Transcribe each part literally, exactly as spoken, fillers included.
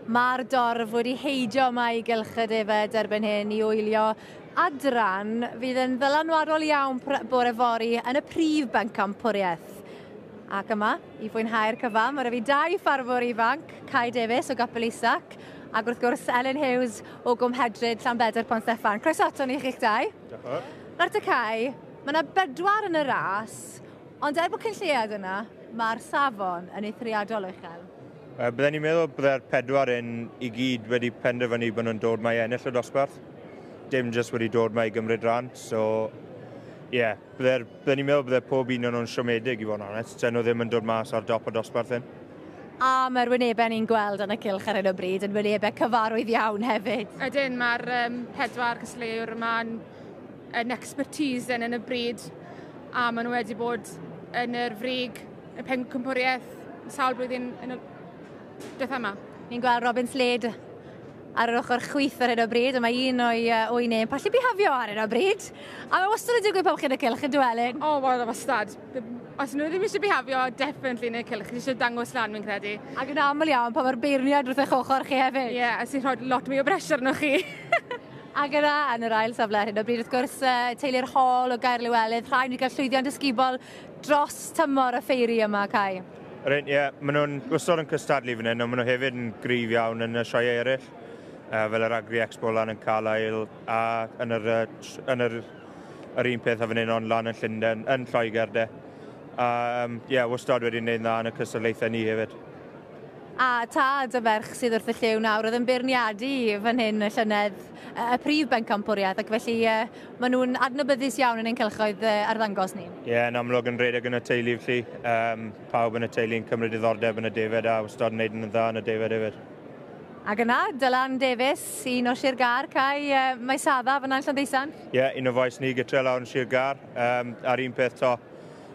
Mae'r dorf wedi heidio yma i gylch y defed erbyn hyn i wylio adran fydd yn ddylanwadol iawn bore fory yn y prif bencampwriaeth. Ac yma, i fwynhau'r cyfan, mae fi dau ffarmwr ifanc, Kai Davies o Gapel Isac, ac wrth gwrs Ellen Hughes o Gwmhedryd Llanbedr Pont Steffan. Croeso ato ni chi'ch dau. Diolch. Nawr te Kai, mae yna bedwar yn y ras, ond er bod cyn lleiad yna, mae'r safon yn eithriadol uchel. Bydden ni'n meddwl bydde'r pedwar un i gyd wedi penderfynu bod nhw'n dod 'ma i ennill y dosbarth. Dim jyst wedi dod 'ma i gymryd rhan, so ie, yeah, bydden ni'n meddwl bydde pob un o'n nhw'n siomedig i fod yn onest. Dyn nhw ddim yn dod mas ar dop y dosbarth hyn. A mae'r wynebau ni'n gweld yn y cylch ar hyn o bryd yn wynebau cyfarwydd iawn hefyd. Ydyn, mae'r um, pedwar cystadleuwr yma'n yn expertise yn, yn y bryd a maen nhw wedi bod yn yr frig, y pencampwriaeth sawl blwyddyn yn y diwetha yma. Ni'n gweld Robin Slade ar yr ochr chwith ar hyn o bryd, a mae un o'i, uh, o'i nem pallu bihafio ar hyn o bryd. A mae wastad yn digwydd pan chi'n y cylch yn dywelyn. O, oh, wel, wastad. Os nhw ddim eisiau bihafio, definitely yn y cylch. Eisiau dangos lan, fi'n credu. Ac yn aml iawn pan mae'r beirniad wrth eich ochr chi hefyd. Ie, yeah, a sy'n rhoi lot mwy o bressure arnoch chi. Ac yna, yn yr ail safle ar hyn o bryd, wrth gwrs, teulu'r Hall o Gaerliwelydd, rhaid wedi cael llwyddiant ysgubol dros tymor y ffeiri yma, Kai. Ie, yeah, maen nhw'n wastad yn cystadlu fan hyn, ond maen nhw hefyd yn gryf iawn yn y sioeau eraill, uh, fel yr Agri Expo lan yn Carlisle, a yn yr, yn yr, yr un peth a fan hyn ond lan yn Llundain, yn Lloegr de. A um, ie, yeah, wastad wedi gwneud dda yn y cystadlaethau ni hefyd. A tad y ferch sydd wrth y llyw nawr oedd yn beirniadu fan hyn y llynedd y prif bencampwriaeth, ac felly uh, maen nhw'n adnabyddus iawn yn ein cylchoedd uh, arddangos ni. Ie, yeah, yn amlwg yn rhedeg yn y teulu felly. Um, pawb yn y teulu yn cymryd diddordeb yn y defed a wastad yn gwneud yn dda yn y defed hefyd. Ac yna, Dylan Davies, un o Sir Gâr, Kai, uh, mae Sadda fyna'n Llanddeusant. Ie, yeah, un o fois ni gytre lawr yn Sir Gâr. Um, a'r un peth to,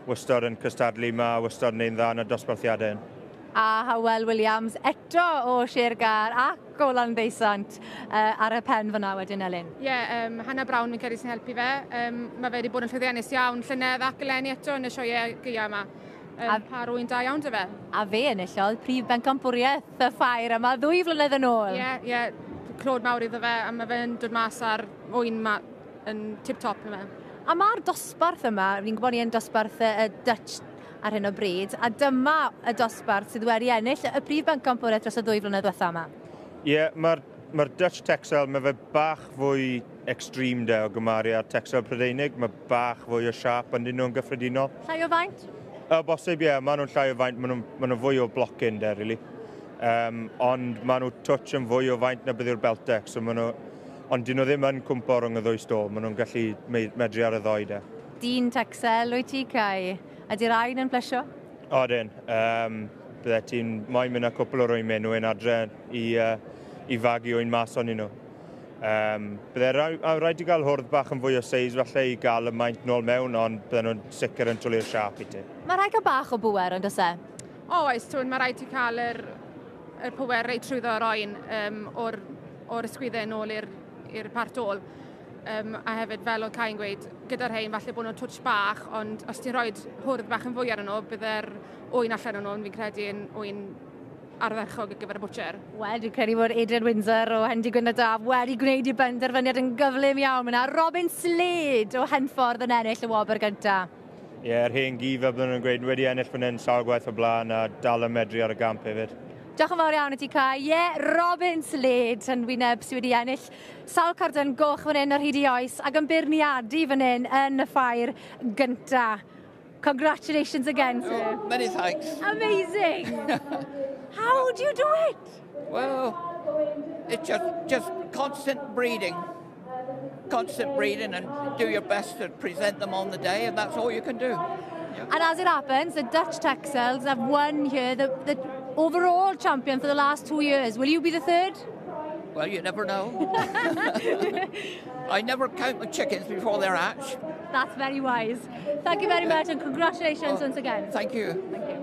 wastad yn cystadlu yma, wastad yn gwneud dda yn y dosbarthiadau hyn. A Hywel Williams eto o Sir Gâr ac o Landdeusant uh, ar y pen fyna wedyn, Elin. Ie, yeah, um, Hannah Brown fi'n credu sy'n helpu fe. Um, mae fe wedi bod yn llwyddiannus iawn llynedd ac eleni eto yn y sioeau gaea yma. Um, a, par ŵyn da iawn 'da fe. A fe enillodd prif bencampwriaeth y ffair yma ddwy flynedd yn ôl. Ie, yeah, ie, yeah, clod mawr iddo fe, a mae fe'n dod mas ar ŵyn ma yn tip-top yma. A mae'r dosbarth yma, fi'n gwybod ni yn dosbarth y Dutch ar hyn o bryd, a dyma y dosbarth sydd wedi ennill y prif bencampwriaeth dros y ddwy flynedd diwetha yma. Ie, yeah, mae'r ma Dutch Texel, mae fe bach fwy extreme de o gymharu â'r Texel Prydeinig, mae bach fwy o siâp yn nhw'n gyffredinol. Llai o faint? O, bosib, ie, yeah, maen nhw'n llai o faint, maen nhw'n ma nhw fwy o blocyn de, really. Um, ond maen nhw touch yn fwy o faint na beth yw'r Beltex, so maen nhw, ond dyn nhw ddim yn cwmpo rhwng y ddwy stôl, maen nhw'n gallu medru ar y ddoi de. Dyn Texel, wyt ti, Kai? Ydy'r rhain yn plesio? Odyn. Um, bydde ti'n moyn mynd â cwpl o rwymau nhw yn adre i, uh, i fagu ŵyn mas o'n nhw. Um, bydde rhaid i gael hwrdd bach yn fwy o seis falle i gael y maint nôl mewn, ond bydde nhw'n sicr yn twlu'r siâp i ti. Mae rhaid cael bach o bwer, ond oes e? O, oes, tw'n, mae rhaid i cael yr, yr pwer reit trwyddo'r oen um, o'r, o'r ysgwyddau nôl i'r part ôl. Um, a hefyd, fel oedd Kai'n gweud, gyda'r rhain falle bod nhw'n twtsh bach, ond os ti'n rhoi hwrdd bach yn fwy arnyn nhw, bydde'r ŵyn allan o'n nhw, fi'n credu yn ŵyn ardderchog ar gyfer y butcher. Wel, dwi'n credu bod Adrian Windsor o Hendy Gwyn a Daf wedi gwneud i benderfyniad yn gyflym iawn. Mae yna Robin Slade o Henffordd yn ennill y wobr gyntaf. Ie, yeah, yr hen gi fel bydden nhw'n gweud, wedi ennill fan hyn sawl gwaith o blaen a dal yn medru ar y gamp hefyd. Diolch yn fawr iawn i ti, Kai. Ie, yeah, Robin Slade yn wyneb sydd wedi ennill sawl carden goch fan hyn ar hyd i oes ac yn beirniadu fan hyn yn y ffair gynta. Congratulations again, sir. Oh, many thanks. Amazing. How do you do it? Well, it's just, just constant breeding. Constant breeding and do your best to present them on the day, and that's all you can do. Yeah. And as it happens, the Dutch Texels have won here the, the overall champion for the last two years. Will you be the third? Well, you never know. I never count my chickens before they're hatched. That's very wise. Thank you very much and congratulations well, once again. Thank you. Thank you.